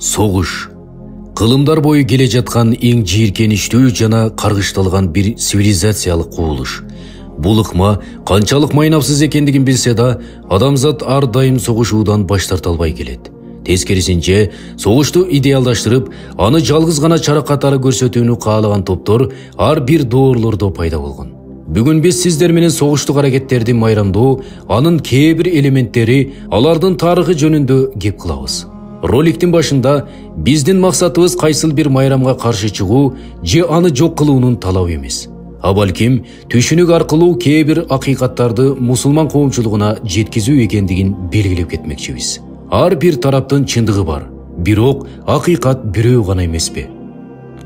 Согуш. Кылымдар бою келе жаткан эң жийиркеничтүү жана каргышталган бир цивилизациялык кубулуш. Бул ыкма канчалык майнапсыз экендигин билсе да, адамзат ар дайым согушуудан баш тарта албай келет. Тескерисинче, согушту идеалдаштырып, аны жалгыз гана чара катары көрсөтүүнү каалаган топтор ар бир доорлордо пайда болгон. Бүгүн биз сиздер менен согуштук аракеттерди майрамдоо, анын кээ бир элементтери, алардын тарыхы жөнүндө кеп кылабыз. Роликтин башында биздин максатыбыз кайсыл бир майрамга каршы чыгуу же аны жок кылуунун талабы эмес. А балким түшүнүк аркылуу кээ бир акыйкаттарды мусулман коомчулугуна жеткизүү экендигин белгилеп кетмекчибиз. Ар бир тараптын чындыгы бар, бирок акыйкат бирөө гана эмеспи?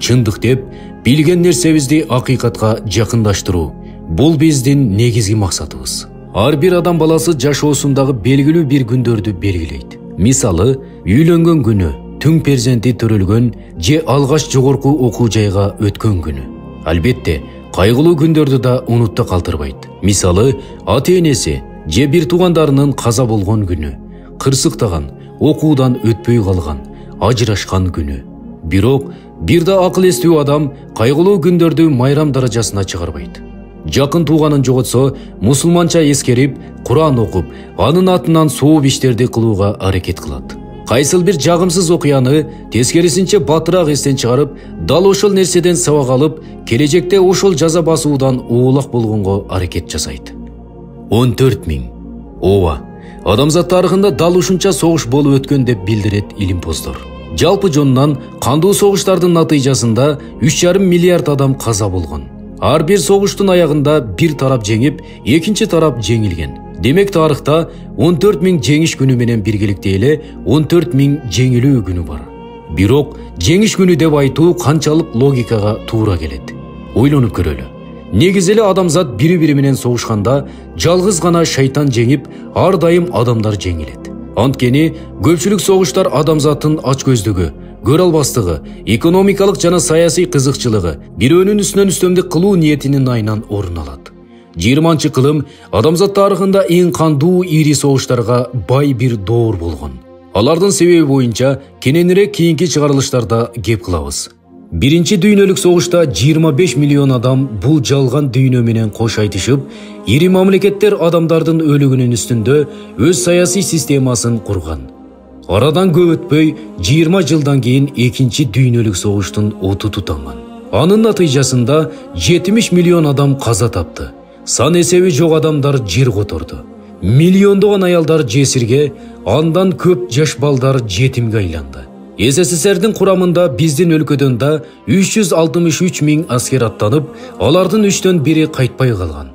Чындык деп билген нерсебизди акыйкатка жакындаштыруу бул биздин негизги максатыбыз. Ар бир адам баласы жашоосундагы белгилүү бир күндөрдү белгилейт. Мисалы, үйлөнгөн күнү, түң перзенти төрөлгөн же алгаш жогорку окуу жайга өткөн күнү. Албетте, кайгылуу күндөрдү да унутта калтырбайт. Мисалы, ата-энеси же бир туугандарынын каза болгон күнү, кырсыктаган, окуудан өтпөй калган, ажырашкан күнү. Бирок, бир да акыл эстүү адам кайгылуу күндөрдү майрам даражасына чыгарбайт. Жакын тууганын жоготсо, мусулманча эскерип, Куран окуп, анын атынан сооп иштерди кылууга аракет кылат. Кайсыл бир жагымсыз окуяны тескерисинче батыраак эстен чыгарып, дал ошол нерседен сабак алып, келечекте ошол жаза басуудан оолак болгонго аракет жасайт. 14 000. Ооба, адамзат тарыхында дал ушунча согуш болуп өткөн деп билдирет илимпоздор. Жалпы жонунан кандуу согуштардын натыйжасында 3,5 миллиард адам каза болгон. Ар бир согуштун аягында бир тарап жеңип, экинчи тарап жеңилген. Демек тарыхта 14 000 жеңиш күнү менен биргеликте эле 14 000 жеңилүү күнү бар. Бирок жеңиш күнү деп айтуу канчалык логикага туура келет? Ойлонуп көрөлү. Негизи эле адамзат бири-бири менен согушканда жалгыз гана шайтан жеңип, ар дайым адамдар жеңилет. Анткени көпчүлүк согуштар адамзаттын ачкөздүгү, көрө албастыгы, экономикалык жана саясий кызыкчылыгы, бирөөнүн үстүнөн үстөмдүк кылуу ниетинин айынан орун алат. 20-чы кылым адамзат тарыхында эң кандуу ири согуштарга бай бир доор болгон. Алардын себеби боюнча кененирээк кийинки чыгарылыштарда кеп кылабыз. Биринчи дүйнөлүк согушта 25 миллион адам бул жалган дүйнө менен кош айтышып, ири мамлекеттер адамдардын өлүгүнүн үстүндө өз саясий системасын курган. Арадан көп өтпөй 20 жылдан кийин экинчи дүйнөлүк согуштун оту тутанган. Анын натыйжасында 70 миллион адам каза тапты. Сан эсеби жок адамдар жер которду. Миллиондогон аялдар жесирге, андан көп жаш балдар жетимге айланды. СССРдин курамында биздин өлкөдөн да 363 000 аскер аттанып, алардын 3төн бири кайтпай калган.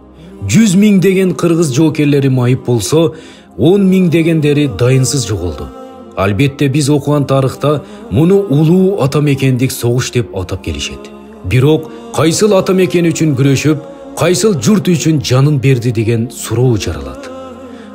100 000 деген кыргыз жоокерлери майып болсо, 10 000 дегендери дайынсыз жоголду. Албетте биз окуган тарыхта муну улуу ата мекендик согуш деп атап келишет. Бирок кайсыл ата мекен үчүн күрөшүп, кайсыл журт үчүн жанын берди деген суроо жаралат.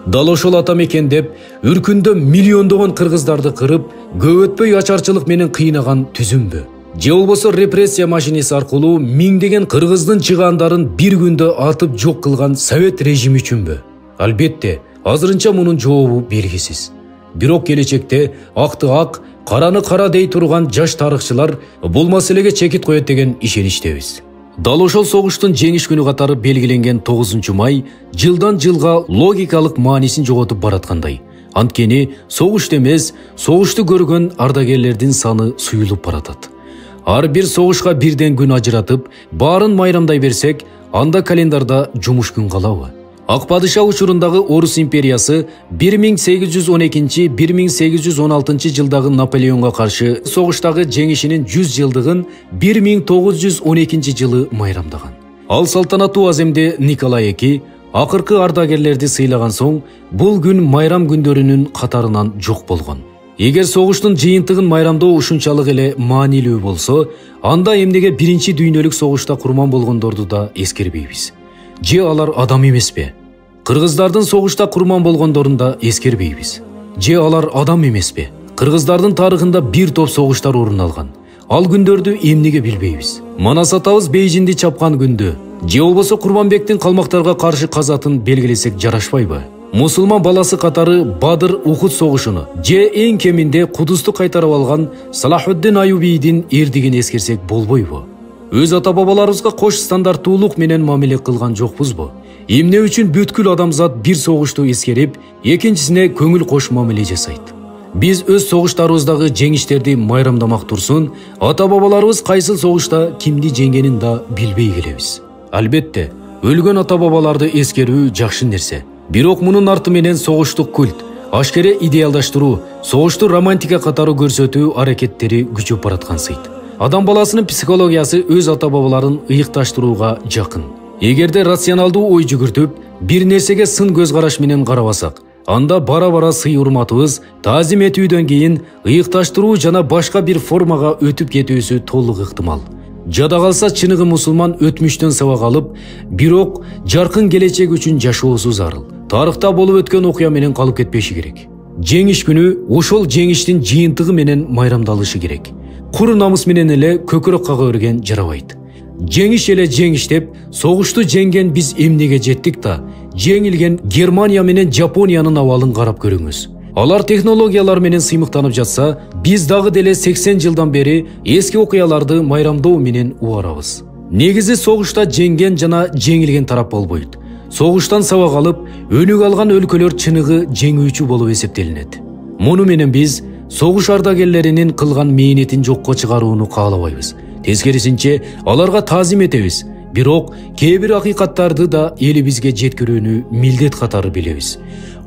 Дал ошол ата мекен деп үркүндө миллиондогон кыргыздарды кырып, көп өтпөй ачарчылык менен кыйнаган түзүмбү? Же болбосо репрессия машинеси аркылуу миңдеген кыргыздын чыгаандарын бир күндө атып жок кылган совет режими үчүнбү? Албетте, азырынча мунун жообу белгисиз. Бирок келечекте акты ак, караны кара дей турган жаш тарыхчылар бул маселеге чекит коет деген ишеничтебиз. Дал ошол согуштун жеңиш күнү катары белгиленген 9 май жылдан жылга логикалык маанисин жоготуп бараткандай. Анткени согушта эмес, согушту көргөн ардагерлердин саны суюлуп баратат. Ар бир согушка бирден күн ажыратып, баарын майрамдай берсек, анда календарда жумуш күн калабы? Ак падыша учурундагы Орус империясы 1812-1816 жылдагы Наполеонго каршы согуштагы жеңишинин 100 жылдыгын 1912 жылы майрамдаган. Ал салтанаттуу аземде Николай II акыркы ардагерлерди сыйлаган соң, бул күн майрам күндөрүнүн катарынан жок болгон. Эгер согуштун жыйынтыгын майрамдоо ушунчалык эле маанилүү болсо, анда эмнеге биринчи дүйнөлүк согушта курман болгондорду да эскербейбиз? Же алар адам эмеспи? Кыргыздардын согушта курман болгондорун да эскербейбиз. Же алар адам эмеспи? Кыргыздардын тарыхында бир топ согуштар орун алган. Ал күндөрдү эмнеге билбейбиз? Манас атабыз Бейжинди чапкан күндү, же болбосо Курманбектин калмактарга каршы казатын белгилесек жарашпайбы? Мусулман баласы катары Бадыр Ухуд согушуну же эң кеминде Кудусту кайтарып алган Салахуддин Аюбийдин эрдигин эскерсек болбойбу? Өз ата-бабаларыбызга кош стандарттуулук менен мамиле кылган жокпузбу? Эмне үчүн бүткүл адамзат бир согушту эскерип, экинчисине көңүл кош мамиле жасайт? Биз өз согуштарыбыздагы жеңиштерди майрамдамак турсун, ата-бабаларыбыз кайсыл согушта кимди жеңгенин да билбей келебиз. Албетте, өлгөн ата-бабаларды эскерүү жакшы нерсе. Бирок мунун арты менен согуштук культ, ашкере идеалдаштыруу, согушту романтика катары көрсөтүү аракеттери күчөп бараткансыйт. Адам баласынын психологиясы өз ата-бабаларын ыйыкташтырууга жакын. Эгерде рационалдуу ой жүгүртүп, бир нерсеге сын көз караш менен карабасак, анда бара-бара сый-урматыбыз таазим этүүдөн кийин ыйыкташтыруу жана башка бир формага өтүп кетүүсү толук ыктымал. Жада калса чыныгы мусулман өтмүштөн сабак алып, бирок жаркын келечек үчүн жашоосу зарыл. Тарыхта болуп өткөн окуя менен калып кетпеши керек. Жеңиш күнү ошол жеңиштин жыйынтыгы менен майрамдалышы керек. Кур намыс менен эле көкүрөк кага берген жарабайт. Жеңиш эле жеңиш деп, согушту жеңген биз эмнеге жеттик да, жеңилген Германия менен Жапониянын абалын карап көрүңүз. Алар технологиялар менен сыймыктанып жатса, биз дагы деле 80 жылдан бери эски окуяларды майрамдоо менен убарабыз. Негизи согушта жеңген жана жеңилген тарап болбойт. Согуштан сабак алып, өнүк алган өлкөлөр чыныгы жеңүүчү болуп эсептелинет. Муну менен биз согуш ардагерлеринин кылган мээнетин жокко чыгарууну каалабайбыз. Тескерисинче, аларга таазим этебиз. Бирок кээ бир акыйкаттарды да элибизге жеткирүүнү милдет катары билебиз.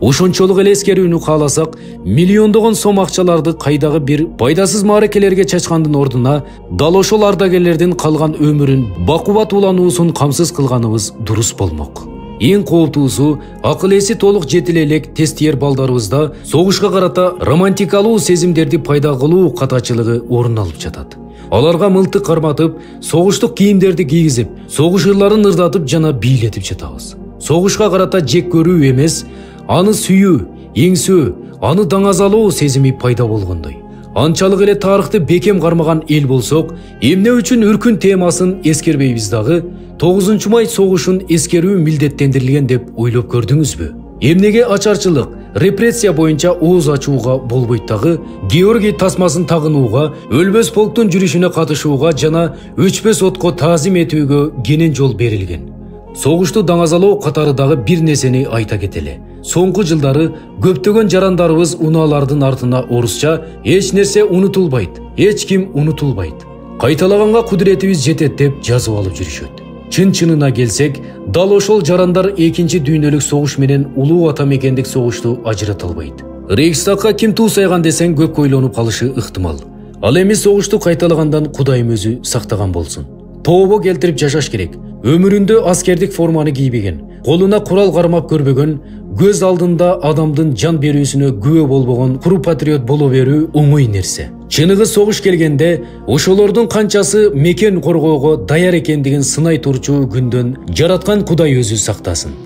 Ошончолук эле эскерүүнү кааласак, миллиондогон сом акчаларды кайдагы бир пайдасыз мааракелерге чачкандын ордуна дал ошол ардагерлердин калган өмүрүн бакубат улануусун камсыз кылганыбыз дурус болмок. Эң кооптуусу, акыл эси толук жетиле элек тестиер балдарыбызда согушка карата романтикалуу сезимдерди пайда кылуу катачылыгы орун алып жатат. Аларга мылтык карматып, согуштук кийимдерди кийгизип, согуш ырларын ырдатып жана бийлетип жатабыз. Согушка карата жек көрүү эмес, аны сүйүү, эңсөө, аны даңазалоо сезими пайда болгондой. Анчалык эле тарыхты бекем кармаган эл болсок, эмне үчүн үркүн темасын эскербейбиз дагы? 9 май согушун эскерүү милдеттендирилген деп ойлоп көрдүңүзбү? Эмнеге ачарчылык, репрессия боюнча ооз ачууга болбойт дагы? Георгий тасмасын тагынууга, өлбөс полктун жүрүшүнө катышууга жана өчпөс отко таазим этүүгө кенен жол берилген. Согушту даңазалоо катары дагы бир нерсени айта кетели. Соңку жылдары көптөгөн жарандарыбыз унаалардын артына орусча эч нерсе унутулбайт, эч ким унутулбайт, кайталаганга кудуретибиз жетет деп жазып алып жүрүшөт. Чын-чынына келсек, дал ошол жарандар экинчи дүйнөлүк согуш менен улуу ата мекендик согушту ажырата албайт. Рейхстагга ким туу сайган десең көп ойлонуп калышы ыктымал. Ал эми согушту кайталагандан Кудайым өзү сактаган болсун. Тообо келтирип жашаш керек. Өмүрүндө аскердик форманы кийбеген, колуна курал кармап көрбөгөн, көз алдында адамдын жан берүүсүнө күбө болбогон куру патриот боло берүү оңой нерсе. Чыныгы согуш келгенде ошолордун канчасы мекен коргоого даяр экендигин сынай турчу күндөн жараткан Кудай өзү сактасын.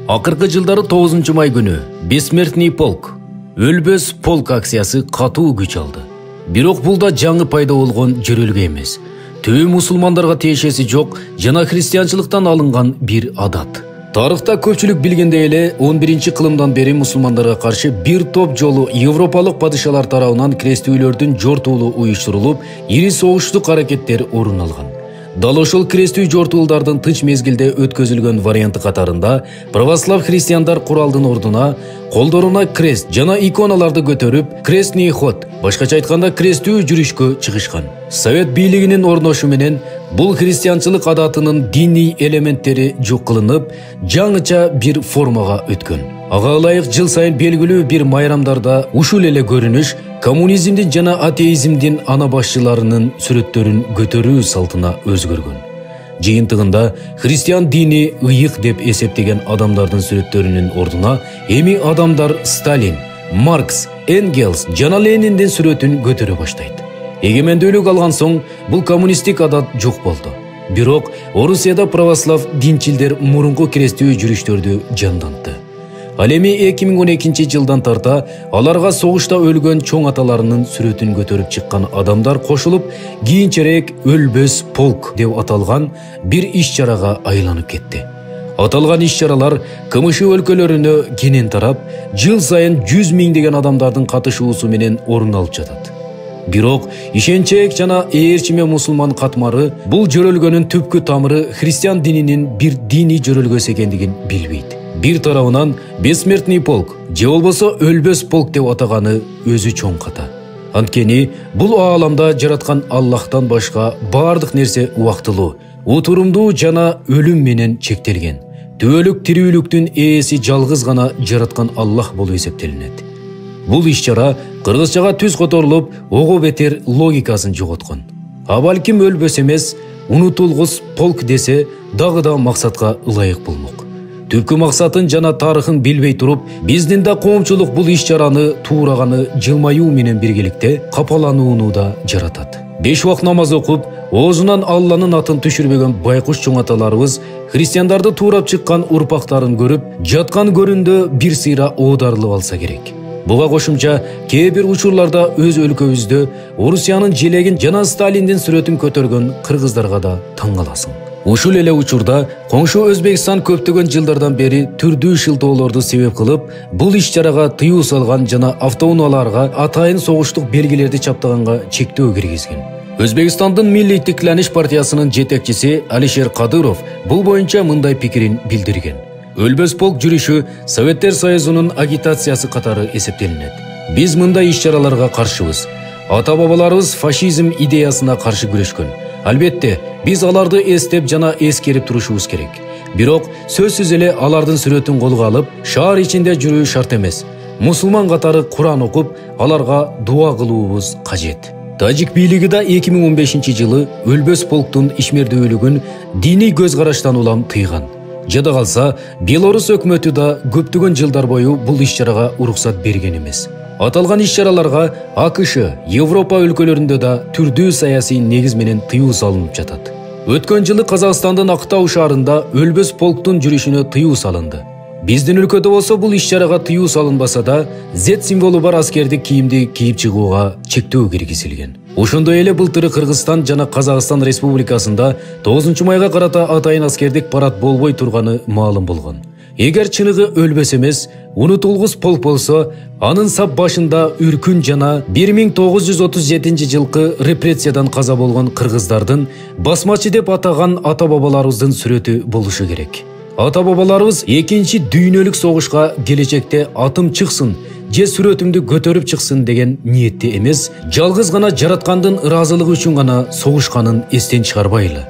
Акыркы жылдары 9 май күнү Бессмертный полк, өлбөс полк акциясы катуу күч алды. Бирок бул да жаңы пайда болгон жөрөлгө эмес. Түбү мусулмандарга тиешеси жок жана христианчылыктан алынган бир адат. Тарыхта көпчүлүк билгендей эле 11-кылымдан бери мусулмандарга каршы бир топ жолу европалык падышалар тарабынан крестүүлөрдүн жортуулу уюштурулуп, ири согуштук аракеттер орун алган. Дал ошол крестүү жортуулдардын тынч мезгилде өткөзүлгөн варианты катарында православ христиандар куралдын ордуна колдоруна крест жана иконаларды көтөрүп, крестный ход, башкача айтканда крестүү жүрүшкө чыгышкан. Совет бийлигинин орношу менен бул христианчылык адатынын диний элементтери жок кылынып, жаңыча бир формага өткөн. Ага ылайык жыл сайын белгилүү бир майрамдарда ушул эле көрүнүш коммунизмдин жана атеизмдин ана башчыларынын сүрөттөрүн көтөрүү салтына өзгөргөн. Жыйынтыгында христиан дини ыйык деп эсептеген адамдардын сүрөттөрүнүн ордуна эми адамдар Сталин, Маркс, Энгельс жана Лениндин сүрөтүн көтөрө баштайт. Эгемендүүлүк алган соң бул коммунисттик адат жок болду. Бирок Орусияда православ динчилдер мурунку крестүү жүрүштөрдү жандантты. Ал эми 2012 жылдан тарта аларга согушта өлгөн чоң аталарынын сүрөтүн көтөрүп чыккан адамдар кошулуп, кийинчерээк өлбөс полк деп аталган бир иш чарага айланып кетти. Аталган иш-чаралар КМШ өлкөлөрүнө кенен тарап, жыл сайын 100 миңдеген адамдардын катышуусу менен орун алып жатат. Бирок ишенчек жана ээрчиме мусулман катмары бул жөрөлгөнүн түпкү тамыры христиан дининин бир диний жөрөлгөсү экендигин билбейт. Бир тарабынан бессмертный полк, же болбосо өлбөс полк деп атаганы өзү чоң ката. Анткени бул ааламда жараткан Аллахтан башка бардык нерсе убактылуу, утурумдуу жана өлүм менен чектелген. Түбөлүк тирүүлүктүн ээси жалгыз гана жараткан Аллах болуп эсептелинет. Бул иш-чара кыргызчага түз которулуп, ого бетер логикасын жоготкон. А балким өлбөс эмес, унутулгус полк десе дагы да максатка ылайык болмок. Түпкү максатын жана тарыхын билбей туруп, биздин да коомчулук бул иш-чараны туураганы жылмаюу менен биргеликте капаланууну да жаратат. 5 убак намаз окуп, оозунан Алланын атын түшүрбөгөн байкуш чоң аталарыбыз христиандарды туурап чыккан урпактарын көрүп, жаткан көрүндө бир сыйра оодарылып алса керек. Буга кошумча кээ бир учурларда өз өлкөбүздө Орусиянын желегин жана Сталиндин сүрөтүн көтөргөн кыргыздарга да таң каласың. Ушул эле учурда коңшу Өзбекстан көптөгөн жылдардан бери түрдүү шылтоолорду себеп кылып, бул иш-чарага тыюу салган жана автоунааларга атайын согуштук белгилерди чаптаганга чектөө киргизген. Өзбекстандын Милли Тикланиш партиясынын жетекчиси Алишер Кадыров бул боюнча мындай пикирин билдирген. Өлбөс полк жүрүшү Советтер Союзунун агитациясы катары эсептелинет. Биз мындай иш-чараларга каршыбыз. Ата-бабаларыбыз фашизм идеясына каршы күрөшкөн. Албетте, биз аларды эстеп жана эскерип турушубуз керек. Бирок сөзсүз эле алардын сүрөтүн колго алып, шаар ичинде жүрүү шарт эмес. Мусулман катары Куран окуп, аларга дуа кылуубуз кажет. Тажик бийлиги да 2015 жылы өлбөс полктун ишмердүүлүгүн диний көз караштан улам тыйган. Жада калса, Белорус өкмөтү да көптөгөн жылдар бою бул иш-чарага уруксат берген эмес. Аталган иш-чараларга АКШ, Европа өлкөлөрүндө да түрдүү саясий негиз менен тыюу салынып жатат. Өткөн жылы Казакстандын Актау шаарында өлбөс полктун жүрүшүнө тыюу салынды. Биздин өлкөдө болсо бул иш-чарага тыюу салынбаса да, Z символу бар аскердик кийимди кийип чыгууга чектөө киргизилген. Ошондой эле былтыры Кыргызстан жана Казакстан Республикасында 9 майга карата атайын аскердик парад болбой турганы маалым болгон. Эгер чыныгы өлбөс эмес, унутулгус полк болсо, анын сап башында Үркүн жана 1937 жылкы репрессиядан каза болгон кыргыздардын басмачы деп атаган ата-бабаларыбыздын сүрөтү болушу керек. Ата-бабаларыбыз 2-чи дүйнөлүк согушка келечекте атым чыксын, же сүрөтүмдү көтөрүп чыксын деген ниетте эмес, жалгыз гана жараткандын ыраазылыгы үчүн гана согушканын эстен чыгарбайлы.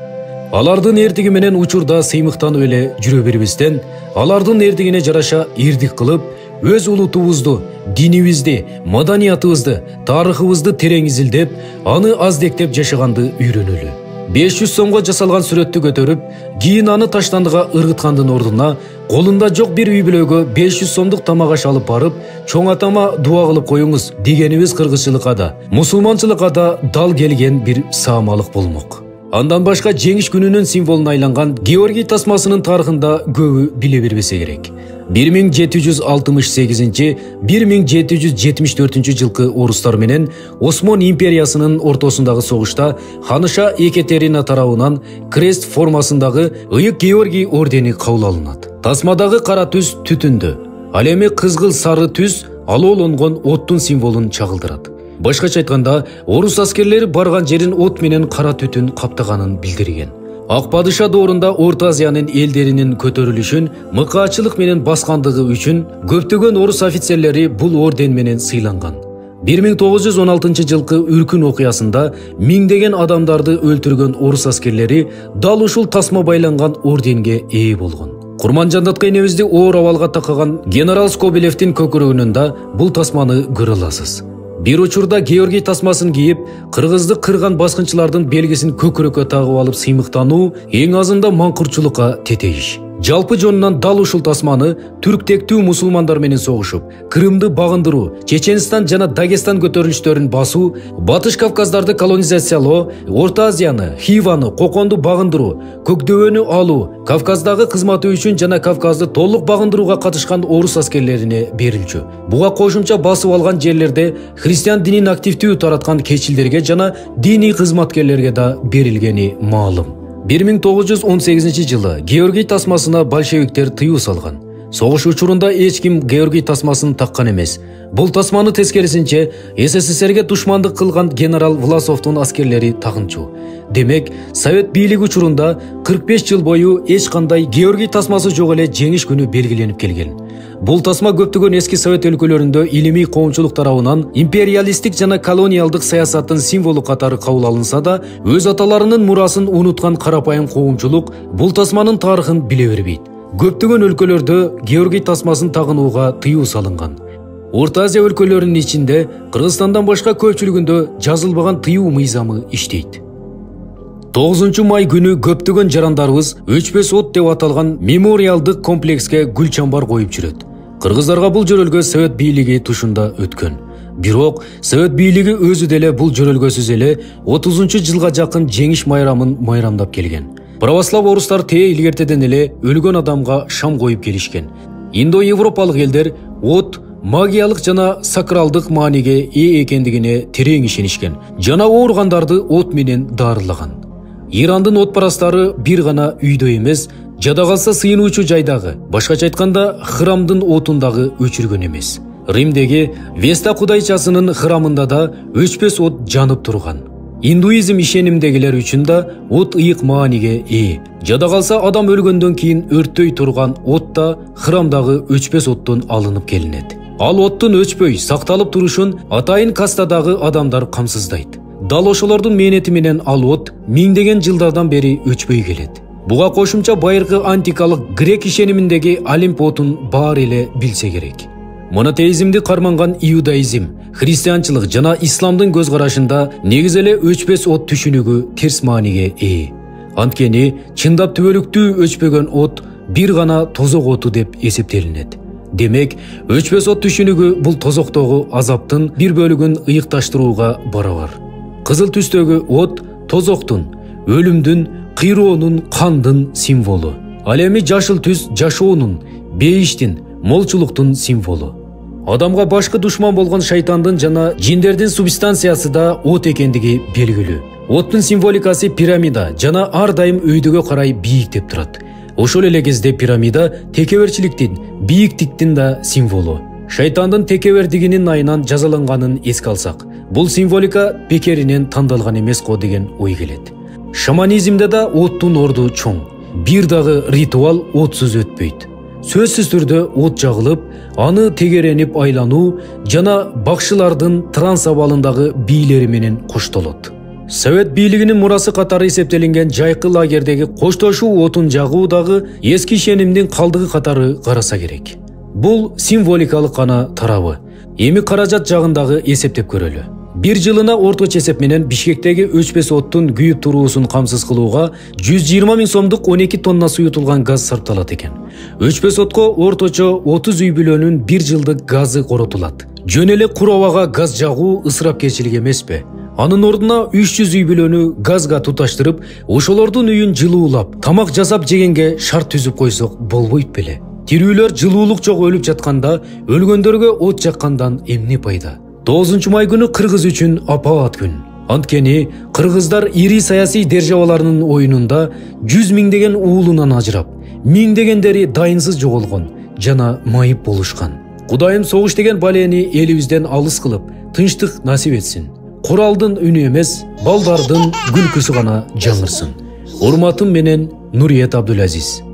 Алардын эрдиги менен учурда сыймыктанып эле жүрө бербестен, алардын эрдигине жараша эрдик кылып, өз улутубузду, динибизди, маданиятыбызды, тарыхыбызды терең изилдеп, аны аздектеп жашаганды үйрөнөлү. 500 сомго жасалган сүрөттү көтөрүп, кийин аны таштандыга ыргыткандын ордуна, колунда жок бир үй бүлөгө 500 сомдук тамак аш алып барып, чоң атама дуа кылып коюңуз дегенибиз кыргызчылыкка да, мусулманчылыкка да дал келген бир саамалык болмок. Андан башка жеңиш күнүнүн символуна айланган Георгий тасмасынын тарыхында көбү биле бербесе керек. 1768-1774 жылкы орустар менен Осман империясынын ортосундагы согушта ханыша Екатерина тарабынан крест формасындагы ыйык Георгий ордени кабыл алынат. Тасмадагы кара түз түтүндү, ал эми кызгыл сары түз алоолонгон оттун символун чагылдырат. Башкача айтканда, орус аскерлери барган жерин от менен кара түтүн каптаганын билдирген. Ак падыша доорунда Орто Азиянын элдеринин көтөрүлүшүн мыкаачылык менен баскандыгы үчүн көптөгөн орус офицерлери бул орден менен сыйланган. 1916 жылкы Үркүн окуясында миңдеген адамдарды өлтүргөн орус аскерлери дал ушул тасма байланган орденге ээ болгон. Курманжандатка энебизди оор абалга такаган генерал Скобелевдин көкүрөгүнөн да бул тасманы көрө аласыз. Бир учурда Георгий тасмасын кийип, кыргызды кырган баскынчылардын белгисин көкүрөккө тагып алып сыймыктануу эң азында маңкурчулукка тетейиш. Жалпы жонунан дал ушул тасманы түрктектүү мусулмандар менен согушуп, Крымды багындыруу, Чеченстан жана Дагестан көтөрүлүштөрүн басуу, Батыш Кавказдарды колонизациялоо, Орто Азияны, Хиваны, Коконду багындыруу, Көкдөбөнү алуу, Кавказдагы кызматы үчүн жана Кавказды толук багындырууга катышкан орус аскерлерине берилчү. Буга кошумча басып алган жерлерде христиан динин активдүү тараткан кечилдерге жана диний кызматкерлерге да берилгени маалым. 1918-жылы Георгий тасмасына большевиктер тыюу салган. Согуш учурунда эч ким Георгий тасмасын таккан эмес. Бул тасманы тескерисинче СССРге душмандык кылган генерал Власовдун аскерлери тагынчу. Демек, Совет бийлиги учурунда 45 жыл бою эч кандай Георгий тасмасы жок эле жеңиш күнү белгиленип келген. Бул тасма көптөгөн эски Совет өлкөлөрүндө илимий коомчулук тарабынан империалисттик жана колониалдык саясаттын символу катары кабыл алынса да, өз аталарынын мурасын унуткан карапайым коомчулук бул тасманын тарыхын биле бербейт. Көптөгөн өлкөлөрдө Георгий тасмасын тагынууга тыюу салынган. Орто Азия өлкөлөрүнүн ичинде Кыргызстандан башка көпчүлүгүндө жазылбаган тыюу мыйзамы иштейт. 9 май күнү көптөгөн жарандарыбыз өчпөс от деп аталган мемориалдык комплекске гүл чамбар коюп жүрөт. Кыргыздарга бул жөрөлгө Совет бийлиги тушунда өткөн. Бирок Совет бийлиги өзү деле бул жөрөлгөсүз эле 30-жылга жакын жеңиш майрамын майрамдап келген. Православ орустар тээ илгертеден эле өлгөн адамга шам коюп келишкен. Индо-европалык элдер от магиялык жана сакралдык мааниге ээ экендигине терең ишенишкен жана ооругандарды от менен дарылаган. Ирандын отпарастары бир гана үйдө эмес, жада калса сыйынуучу жайдагы, башкача айтканда храмдын отундагы өчүргөн эмес. Римдеги Веста кудайчасынын храмында да өчпөс от жанып турган. Индуизм ишенимдегилер үчүн да от ыйык мааниге ээ. Жада калса адам өлгөндөн кийин өрттөй турган от да храмдагы өчпөс оттон алынып келинет. Ал оттун өчпөй сакталып турушун атайын кастадагы адамдар камсыздайт. Дал ошолордун мээнети менен ал от миңдеген жылдардан бери өчпөй келет. Буга кошумча байыркы антикалык грек ишениминдеги Олимп отун баары эле билсе керек. Монотеизмди карманган иудаизм, христианчылык жана исламдын көз карашында негизи эле өчпөс от түшүнүгү терс мааниге ээ. Анткени чындап түбөлүктүү өчпөгөн от бир гана тозок оту деп эсептелинет. Демек, өчпөс от түшүнүгү бул тозоктогу азаптын бир бөлүгүн ыйыкташтырууга барабар. Кызыл түстөгү от тозоктун, өлүмдүн, кыйроонун, кандын символу. Ал эми жашыл түс жашоонун, бейиштин, молчулуктун символу. Адамга башкы душман болгон шайтандын жана жиндердин субстанциясы да от экендиги белгилүү. Оттун символикасы пирамида жана ар дайым өйдөгө карай бийиктеп турат. Ошол эле кезде пирамида текеберчиликтин, бийиктиктин да символу. Шайтандын текебердигинин айынан жазаланганын эске алсак, бул символика бекеринен тандалган эмес го деген ой келет. Шаманизмде да оттун орду чоң. Бир дагы ритуал отсуз өтпөйт. Сөзсүз түрдө от жагылып, аны тегеренип айлануу жана бакшылардын транс абалындагы бийлери менен коштолот. Совет бийлигинин мурасы катары эсептелинген жайкы лагердеги коштошуу отун жагуу дагы эски ишенимдин калдыгы катары караса керек. Бул символикалык гана тарабы. Эми каражат жагындагы эсептеп көрөлү. Бир жылына орточо эсеп менен Бишкектеги өчпөс оттун күйүп туруусун камсыз кылууга 120 000 сомдук 12 тонна суютулган газ сарпталат экен. Өчпөс отко орточо 30 үй бүлөнүн бир жылдык газы коротулат. Жөн эле кур абага газ жагуу ысырапкерчилик эмеспи? Анын ордуна 300 үй бүлөнү газга туташтырып, ошолордун үйүн жылуулап, тамак жасап жегенге шарт түзүп койсок болбойт беле? Тирүүлөр жылуулук жок өлүп жатканда, өлгөндөргө от жаккандан эмне пайда? 9 май күнү кыргыз үчүн апаат күн. Анткени кыргыздар ири саясий державаларынын оюнунда 100 миңдеген уулунан ажырап, миңдегендери дайынсыз жоголгон жана майып болушкан. Кудайым согуш деген балени элибизден алыс кылып, тынчтык насип этсин. Куралдын үнү эмес, балдардын күлкүсү гана жаңырсын. Урматым менен Нуриет Абдулазиз.